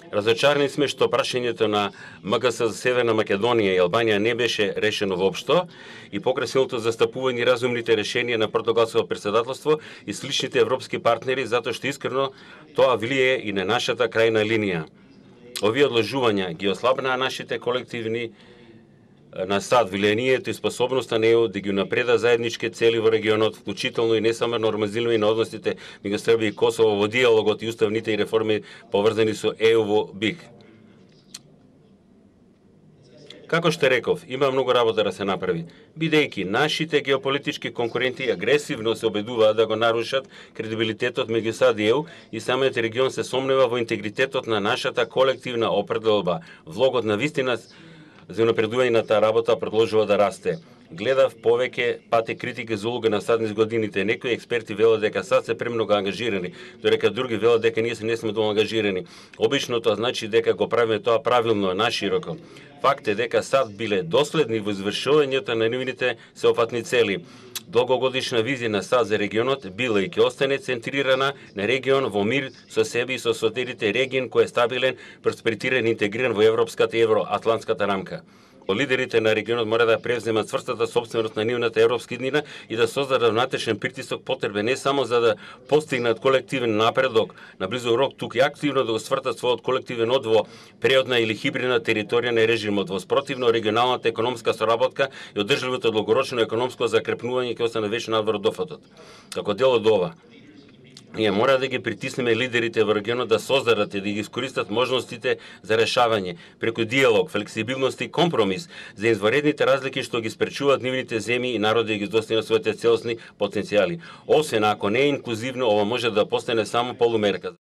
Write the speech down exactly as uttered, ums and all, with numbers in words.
Разочарани сме што прашањето на МГС за Северна Македонија и Албанија не беше решено воопшто и покрај силното застапување и разумните решенија на португалското претседателство и сличните европски партнери, затоа што искрено тоа влие и на нашата крајна линија. Овие одложувања ги ослабнаа нашите колективни на САД влијанието и способноста на ЕУ да ги напреда заеднички цели во регионот, вклучително и не само нормализирање на односите меѓу Србија и Косово во диалогот и уставните и реформи поврзани со ЕУ во БИХ. Како што реков, има многу работа да се направи, бидејќи нашите геополитички конкуренти агресивно се обидуваат да го нарушат кредибилитетот меѓу САД и ЕУ и самиот регион се сомнева во интегритетот на нашата колективна определба. Влогот на вистина за напредување на таа работа продолжува да расте. Гледав повеќе пати критики за улога на САД низ годините. Некои експерти велат дека САД се премногу ангажирани, додека други велат дека ние се не сме доволно ангажирани. Обично тоа значи дека го правиме тоа правилно, нашироко. Факт е дека САД биле доследни во извршувањето на нивните сеопфатни цели. Долгогодишна визија на САД за регионот била и ќе остане центрирана на регион во мир со себе и со соседите, регион кој е стабилен, просперитиран и интегриран во европската и евроатлантската рамка. Лидерите на регионот мора да превземат цврстата собственост на нивната европска иднина и да создадат внатрешен притисок потребен не само за да постигнат колективен напредок на близок рок, туку и активно да го свртат својот колективен од во преодна или хибридна територија на режимот. Во спротивно, регионалната економска соработка и одржливото долгорочно економско закрепнување ќе остане вечно надвор од дофатот. Како дел од ова, ние мора да ги притиснеме лидерите во регионот да создадат и да ги искористат можностите за решавање преку диалог, флексибилност и компромис за изваредните разлики што ги спречуваат нивните земји и народи да ги достигнат своите целосни потенцијали. Освен ако не е инклузивно, ова може да постане само полумерка.